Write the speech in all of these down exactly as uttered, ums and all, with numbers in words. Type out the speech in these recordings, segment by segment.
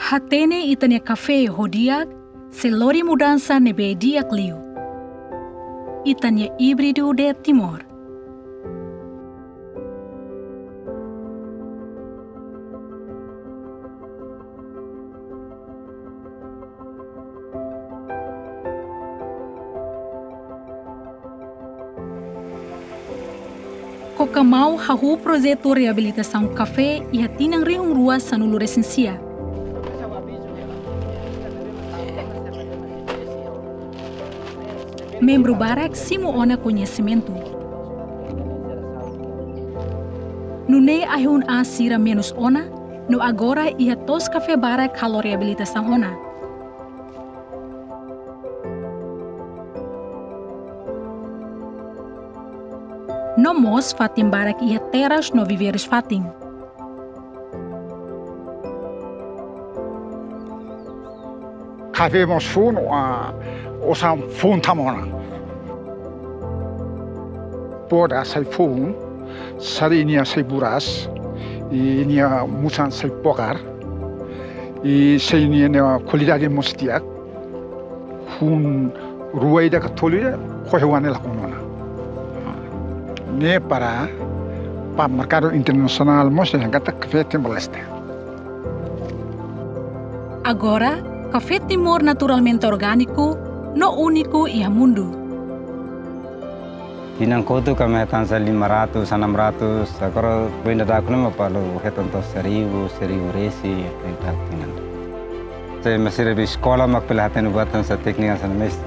Hatene ita-nia kafé ho di'ak sei lori mudansa ne'ebé di'ak liu. Ita-nia híbridu de Timor. Cocamau hahú projetu reabilitasaun kafé iha tinan rihun rua sanulu resin sia. Membru barak simu ona koñesimentu. Nune'e ai-hun aas sira menus ona, no agora iha to'os kafé barak halo reabilitasaun ona. No mós fatin barak iha teras no viveirus fatin. Kafé mós foun, ah, osan foun tama ona. Poda sai foun, sali nia sai buras, i nia musan sai pokar, i sai nia, nia kualidade mós di'ak. Hun rua ida ka tolu ida, kohe wane la konona. Ne'e para, para merkadu internasionál mós yang kata kafé Timor-Leste. Agora, kafé Timor naturalmente orgániku no úniku iha mundu. Tinan kotuk ami hetan hanesan lima ratus, enam ratus, agora foin daudauk ne'e mak balu hetan to'o seribu, seribu resin, foin daudauk tinan. Se masih lebih sekolah mak bele hatene buat hanesan téknika hanesan ne'e mós.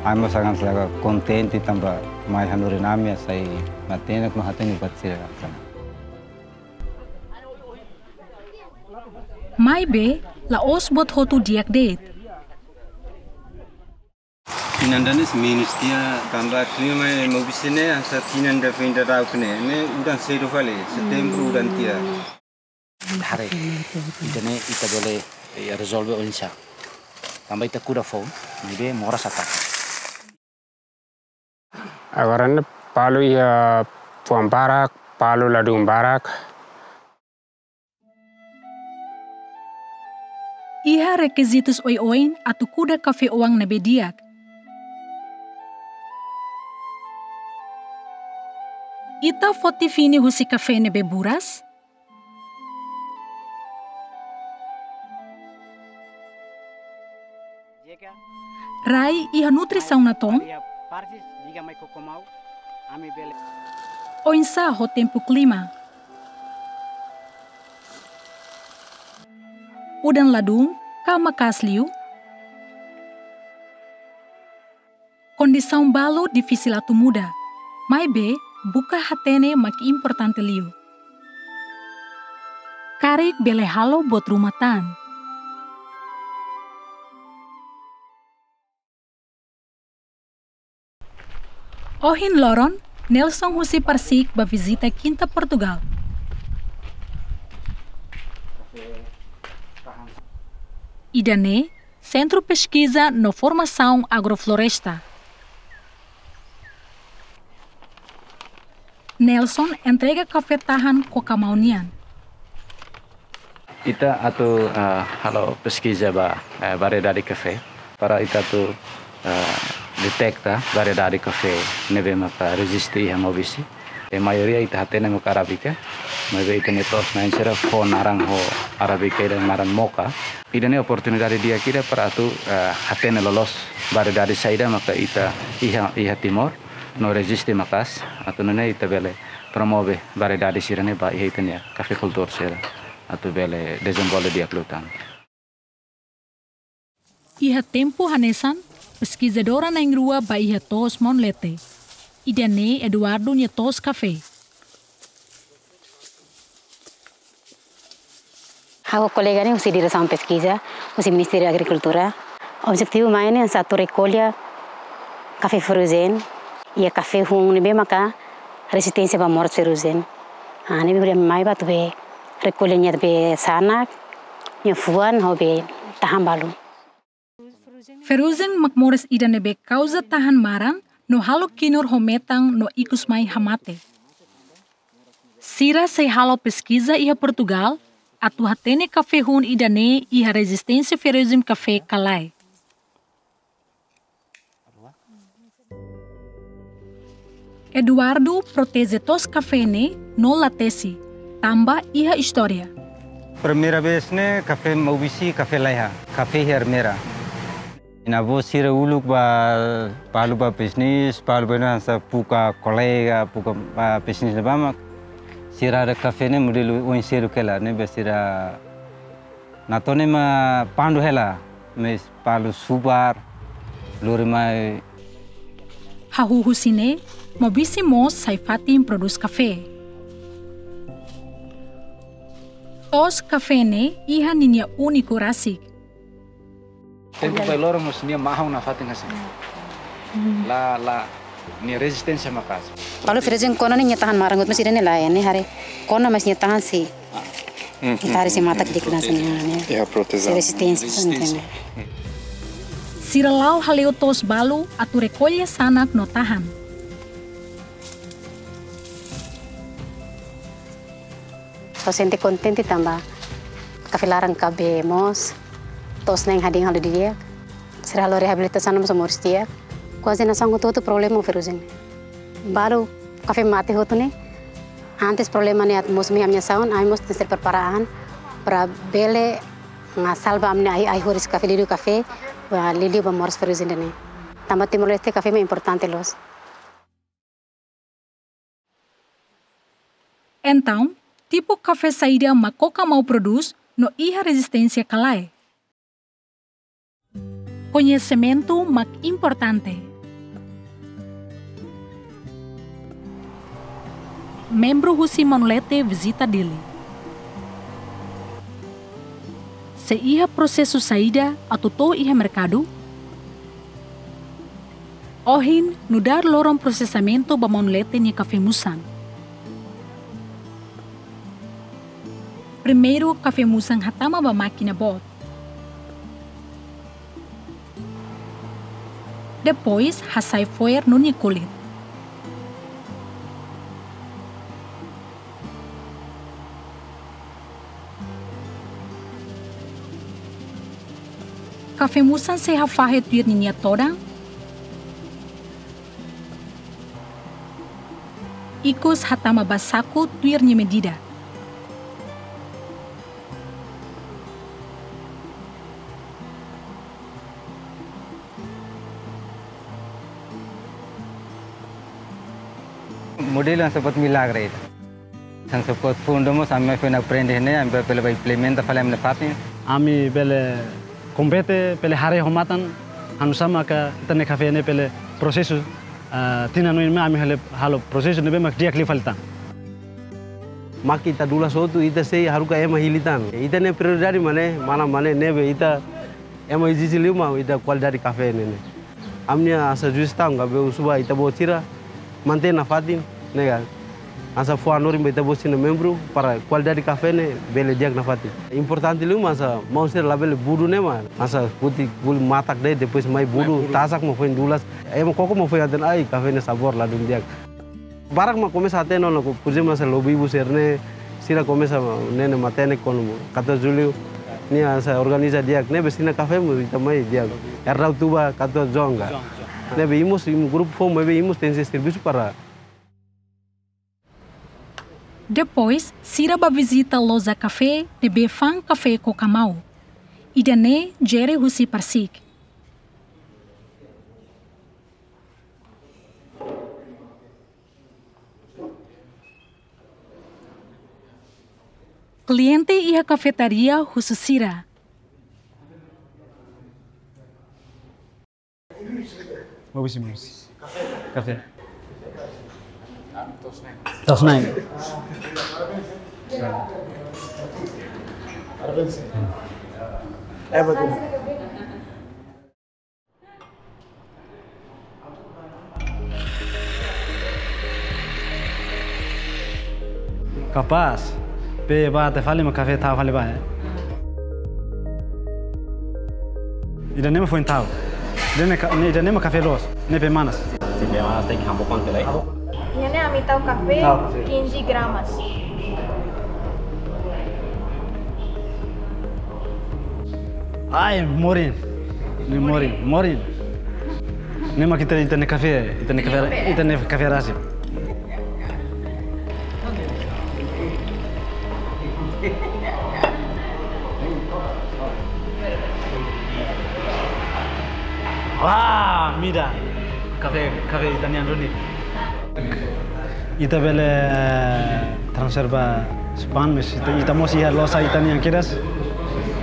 Ami mós agora kontente tanba mai hanorin ami sai matenek no hatene buat sira hanesan. Maibé, la'ós buat hotu di'ak de'it. Tinan ida-ne'e menus tiha tanba klima mai Maubisse ne'e hanesan tinan ida foin daudauk ne'e, ne'e udan sedu fali, setembru udan tiha. Haree, ida-ne'e ita bele, eh, rezolve oinsá. Tanba ita kuda foun, maibé moras atak. Agora ne'e balu iha fuan barak, balu ladún barak. Iha rekizitus oioin atu kuda kafé-oan ne'ebé di'ak. Ita foti fini husi kafé ne'ebé buras? Rai iha nutrisaun natoon? Oinsá ho tempu klima? Udan ladún ka maka'as liu? Kondisaun balu difisil atu muda, maibé buka hatene mak importante liu. Karik bele halo buat ruma tan. Ohin loron, Nelson husi Parsiik bá vizita Kinta Portugal. Ida-ne'e Sentru Peskiza no Formasaun Agrofloresta. Nelson entrega kafé tahan Cocamau nian. Ita atu, eh, halo peskiza ba, eh, variedade kafé. Para ita atu, eh, deteta variedade kafé ne'ebé maka reziste iha Maubisse. E maioria ita hatene maka arábika, maibé ita-nia to'os-na'in sira fó naran ho arábika ida naran moka. Ida-ne'e oportunidade di'ak ida para atu, eh, hatene loloos variedade saida maka ita iha, iha Timor, no reziste maka'as, atu nune'e ita bele promove variedade sira-ne'e ba iha ita-nia kafeikultór sira, atu bele dezenvolve di'ak liután. Iha tempu hanesan, peskizadora na'in-rua bá iha to'os maun-leten. Ida-ne'e Eduardo nia to'os kafé. Ha'u kolega ne'e husi Diresaun Peskiza, husi Ministériu Agrikultura. Objetivu mai ne'e hanesan atu rekolla kafé ferrujen, iha kafé hun ne'ebé maka rezisténsia ba moras ferrujen. Ah, ne'ebé hodi mai bá atu bá rekolla nia be sanak, nia fuan, hodi bá tahan balu. Ferrujen mak moras ida ne'ebé kauza tahan maran no halo kinur ho metan no ikus mai hamate. Sira sei halo peskiza iha Portugal, atu hatene kafé hun ida-ne'e iha rezisténsia ferrugem kafé ka lae. Eduardo proteje to'os kafé ne'e no la tesi, tanba iha istória. Primeira vez ne'e kafé Maubisse, kafé laiha, kafé iha Ermera. Nia avó sira uluk ba, balu ba bisnis, balu ba hanesan buka kolega, buka, ah, bisnis ne'ebá mak sira haree kafé ne'e modelu oin seluk hela, ne'ebé sira natoon ema pandu hela, mais balu subar, lori mai. Hahú husi ne'e, Maubisse mós sai fatin prodús kafé. To'os kafé ne'e iha ninia úniku rasik. Tempu bailoro mós nia mahon nafatin hanesan. La, la, nia rezisténsia maka'as. Balu ferrugem kona ne'e nia tahan maran, mas ida-ne'e lae, ne'e haree kona mas nia tahan si. Ita haree si matak dik hanesan ne'e. Iha protesaun. Si rezisténsia, rezisténsia. Sira la'o hale'u to'os balu atu rekolla sanak no tahan. Só sente kontente tanba kafé laran K B mós, to'os na'in hadi'in halo didi'ak. Sira halo reabilitasaun mós moris di'ak. Kuaze nasaun hotu-hotu problema ferrugem. Balu kafé mate hotu ne'e. Antes problema ne'e atu mós mai ami-nia saun, ami mós tenke prepara an para bele, ah, salva ami-nia ai-, ai-horis kafé, liuliu kafé, ah, liuliu ba moras ferrugem ida-ne'e. Tanba Timor-Leste kafé mak importante loos. Entaun, tipu kafé saida mak Cocamau prodús no iha rezisténsia ka lae? Koñesimentu mak importante. Membru husi Manulete vizita Dili. Sei iha prosesu saida atu to'o iha merkadu? Ohin nu'udar loron prosesamentu ba Manulete nia kafé musan. Primeiru kafé musan hatama ba mákina boot. Depois hasai fo'er no nia kulit. Kafé musan sei hafahe tuir ninia todan. Ikus hatama ba saku tuir nia medida. Modelu hanesan buat milagre ida. Hanesan buat fundo mós ami foin aprende ne'e, ami bele ba implementa fali ami-nia fatin. Ami bele kompete, bele haree ho matan, hanesan maka ita-nia kafé ne'e bele prosesu, ah, tinan oin mai ami halo, halo prosesu ne'ebé mak di'ak liu fali tan. Mak ita dulas hotu, ita sei haruka ema hili tan. Ita-nia prioridade mak ne'e, mana mak ne'e, ne'ebé ita ema ezije liu mak ita kualidade kafé ne'e ne'e. Ami-nia hanesan sujestaun ka be husu ba ita-boot sira mantein nafatin, ne'e ka. Hanesan fó hanorin ba ita-boot sira-nia membru para kualidade kafé ne'e bele di'ak nafatin. Importante liu mak hanesan maun sira labele budu ne'e mak. Hanesan buti buli matak de'it, depois mai budu, mai budu, tasak mak foin dulas. Ema koko mak foin hatene ai kafé ne'e sabór ladún di'ak. Barak mak komesa hatene ona, por ezemplu, hanesan Lobo Ibu sira-ne'e, sira komesa ne'e ne'e matenek kuandu katorze Jullu, nia hanesan organiza di'ak, ne'ebé sira-nia kafé mós ita mai di'ak. Erdau Tuba, katorze João ka. João, João. Ne'ebé imi mós, imi grupu foun, ne'ebé imi mós tenke servisu para. Depois, sira bá vizita loja kafé ne'ebé fa'an kafé Cocamau. Ida-ne'e Jerry husi Parsik. Kliente iha kafetaria husu sira. Mau bisi, mau bisi. Kafé. To'os na'in. Kapás, be bá tiha fali mak kafé tau fali ba, eh. Ida-ne'e mak foin tau. Ida-ne'e ka-, ne'e, ida-ne'e mak kafé loos, ne'e be manas. Se be manas tenke hambo kuantu lai? Ida-ne'e ami tau kafé, tau, sin, quinze gramas. Ai, morin. Ne'e morin, morin. Ne'e mak ita, ita-nia kafé, ita-nia kafé, ita-nia kafé rasik. Wah, mida. Kafé, kafé ita-nian duni. Ita bele transfer ba Spain, mas ita, ita mós iha loja ita-nian kedas.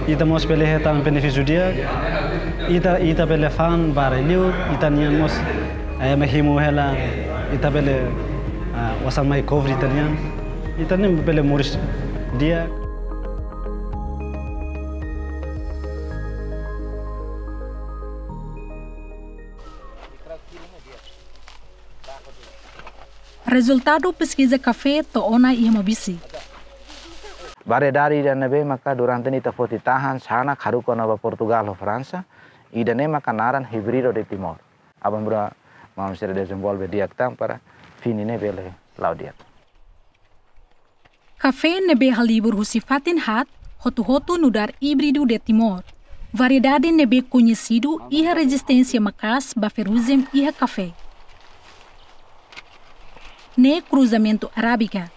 Ita mós bele hetan benefísiu di'ak. Ita, ita bele fa'an ba rai-li'ur, ita-nian mós, eh, ema himu hela, ita bele, ah, osan mai cover ita-nian. Ita-nian bele moris di'ak. Rezultadu peskiza kafé to'o ona iha Maubisse. Variedade ida ne'ebé maka durante ne'e ita foti tahan, hanesan haruka ona ba Portugal ho Fransa, ida-ne'e maka naran híbrido de Timor. Aban-bainrua maun sira dezenvolve di'ak tan para fini ne'e bele la'o di'ak. Kafé ne'ebé halibur husi fatin haat, hotu-hotu nu'udar híbrido de Timor. Variedade ne'ebé koñesidu iha rezisténsia maka'as ba ferrugem iha kafé. Ne'e kruzamentu arábika,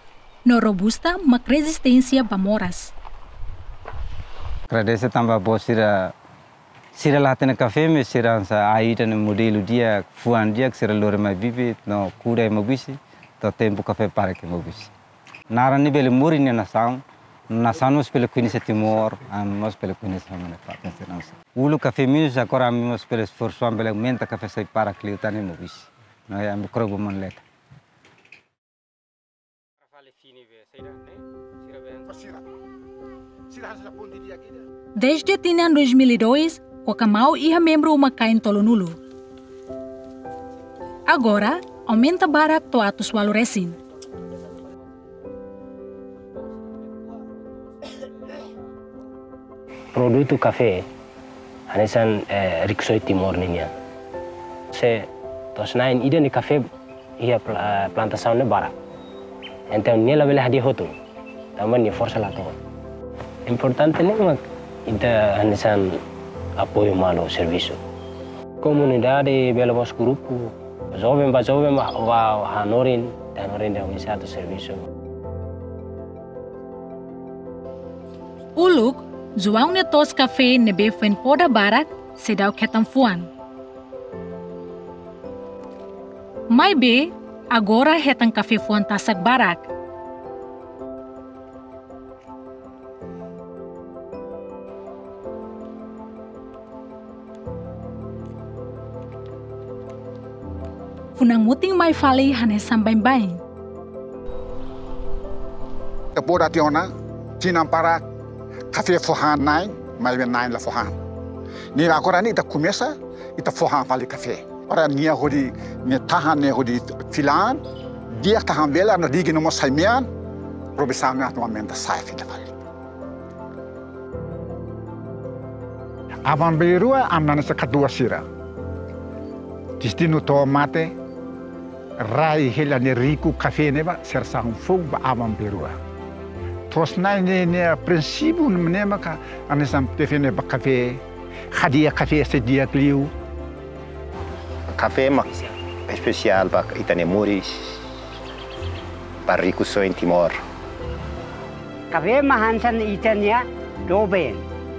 no robusta mak rezisténsia ba moras. Agradese tanba boot sira, sira la hatene kafé, mas sira hanesan ai ida-ne'e modelu di'ak, fuan di'ak, sira lori mai bibi, no kuda iha Maubisse, to'o tempu kafé para iha Maubisse. Naran ne'e bele moris nia nasaun, nasaun mós bele koñese Timor, ami mós bele koñese ami-nia fatin sira hanesan. Uluk kafé menus, agora ami mós bele esforsu, ami bele aumenta kafé sai para liután iha Maubisse. No ami krobo man leta. Desde tinan dois mil e dois, Kokamau iha membru uma-kain tolunulu. Agora, aumenta barak to'o atus ualu resin. Produtu kafé hanesan, eh, rikusoin Timor ninian. Se to'os-na'in ida-ne'e kafé iha pla-, plantasaun ne'e barak. Entaun nia labele hadi'a hotu. Tanba nia forsa la to'o. Importante ne'e mak ita hanesan apoiu malu servisu. Komunidade bele mós grupu, joven ba joven ba, ba hanorin, hanorin de organizadu servisu. Uluk, João nia to'os kafé ne'ebé foin poda barak, seidauk hetan fuan. Maibé, agora hetan kafé fuan tasak barak. Funan mutin mai fali hanesan baibain. Ita poda tiha ona, tinan barak, kafé fó han na'in, maibé na'in la fó han. Ne'e agora ne'e ita komesa, ita fó han fali kafé. Para nia hodi, nia tahan ne'e hodi fila an, di'ak tahan bela, no dignu mós sai mean, produsaun ne'e atu aumenta sai fila fali. Aban-bainrua ami hanesan katuas sira. Destinu to'o mate, rai hela ne'e riku kafé ne'ebá, sira sa'e foun ba aban-bainrua. To'os-na'in ne'e, ne'e prinsípiu ne'e maka hanesan defende ba kafé, hadi'a kafé sei di'ak liu. Kafé mak espesiál ba ita-nia moris, ba rikusoin Timor. Kafé mak hanesan ita-nia doben,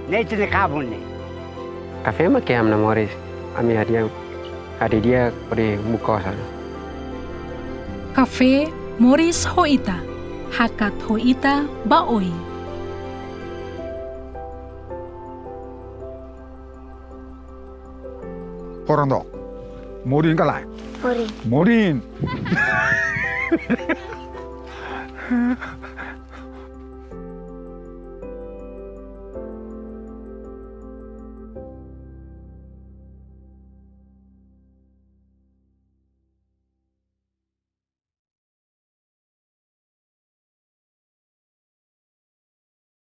ne'e ita-nia kabun ne'e. Kafé mak ke ami-nia moris, ami hadi'a, hadi'a di'ak hodi buka osan. Kafé moris ho ita, hakat ho ita ba oin. Horon dook. Morin ka lae? Morin. Morin.